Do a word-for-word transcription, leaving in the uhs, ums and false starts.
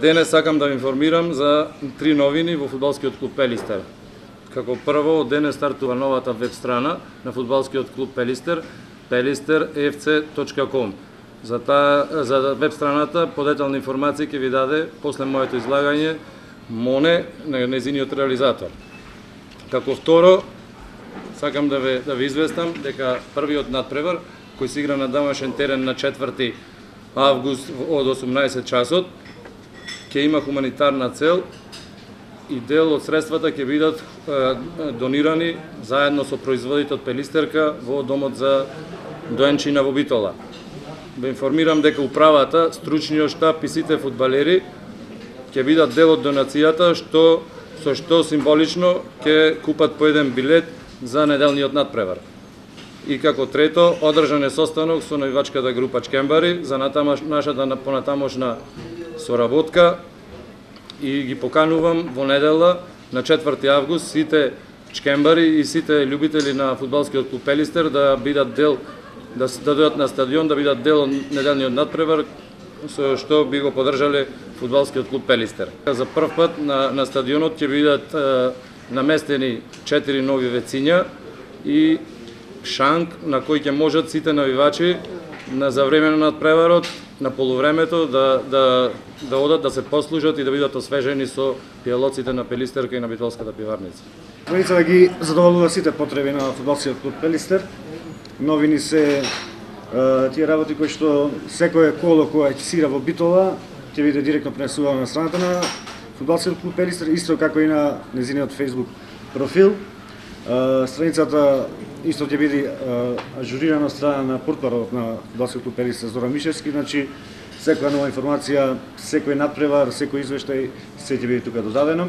Денес сакам да ви информирам за три новини во фудбалскиот клуб Пелистер. Како прво, од денес стартува новата веб страна на фудбалскиот клуб Пелистер, пелистер еф це точка ком. За таа за веб страната подетални информации ќе ви даде после моето излагање Моне, незиниот реализатор. Како второ, сакам да ве да ви известам дека првиот надпревар кој се игра на домашен терен на четврти август од осумнаесет часот ќе има хуманитарна цел и дел од средствата ќе бидат е, донирани заедно со производите од Пелистерка во домот за доенчина во Битола. Ве информирам дека управата, стручниот штаб и сите фудбалери ќе бидат дел од донацијата, што со што символично ќе купат по еден билет за неделниот надпревар. И како трето, одржан е состанок со навивачката група Чкембари за натамаш, нашата понатамошна соработка и ги поканувам во недела на четврти август сите Чкембари и сите љубители на фудбалскиот клуб Пелистер да бидат дел да да дојдат на стадион, да бидат дел од неделниот надпревар со што би го поддржале фудбалскиот клуб Пелистер. За прв пат на на стадионот ќе бидат е, наместени четири нови вециња и шанк на кој ќе можат сите навивачи на за време на надпреварот, на полувремето да да да одат да се послужат и да бидат освежени со пијалоците на Пелистерка и на Битолската пиварница. Новица да ги задоволува сите потреби на фудбалскиот клуб Пелистер. Новини се е, тие работи кои што секое коло кое ќе сира во Битола ќе биде директно пренесувано на страната на фудбалскиот клуб Пелистер, исто како и на незиниот Facebook профил. Uh, страницата исто ќе биде uh, ажурирана од страна на портпаролот на фудбалскиот клуб Пелистер Зоран Мишевски, значи секоја нова информација, секој надпревар, секој извештај, се ќе биде тука додадено.